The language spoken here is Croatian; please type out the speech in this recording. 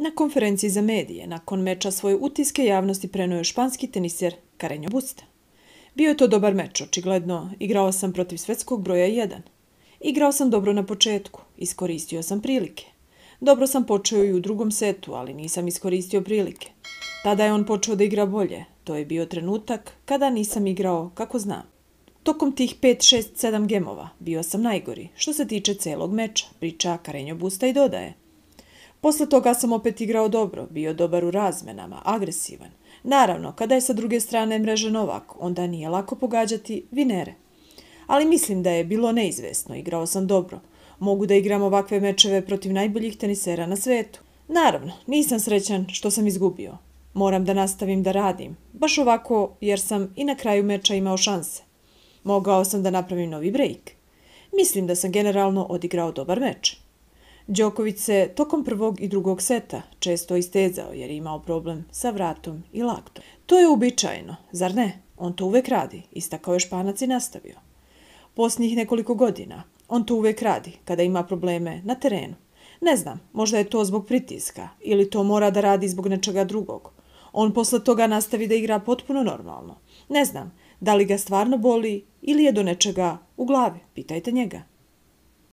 Na konferenciji za medije nakon meča svoje utiske javnosti prenio je španski teniser Carreño Busta. Bio je to dobar meč, očigledno. Igrao sam protiv svetskog broja 1. Igrao sam dobro na početku, iskoristio sam prilike. Dobro sam počeo i u drugom setu, ali nisam iskoristio prilike. Tada je on počeo da igra bolje. To je bio trenutak kada nisam igrao kako znam. Tokom tih 5, 6, 7 gemova bio sam najgori, što se tiče celog meča, priča Carreño Busta i dodaje. Posle toga sam opet igrao dobro, bio dobar u razmenama, agresivan. Naravno, kada je sa druge strane mreže Novak, onda nije lako pogađati vinere. Ali mislim da je bilo neizvesno, igrao sam dobro. Mogu da igram ovakve mečeve protiv najboljih tenisera na svetu. Naravno, nisam srećan što sam izgubio. Moram da nastavim da radim, baš ovako jer sam i na kraju meča imao šanse. Mogao sam da napravim novi break. Mislim da sam generalno odigrao dobar meč. Đoković se tokom prvog i drugog seta često istezao jer je imao problem sa vratom i laktom. To je uobičajeno, zar ne? On to uvek radi, istakao je Španac i nastavio. Posljednjih nekoliko godina on to uvek radi kada ima probleme na terenu. Ne znam, možda je to zbog pritiska ili to mora da radi zbog nečega drugog. On posle toga nastavi da igra potpuno normalno. Ne znam, da li ga stvarno boli ili je do nečega u glavi, pitajte njega.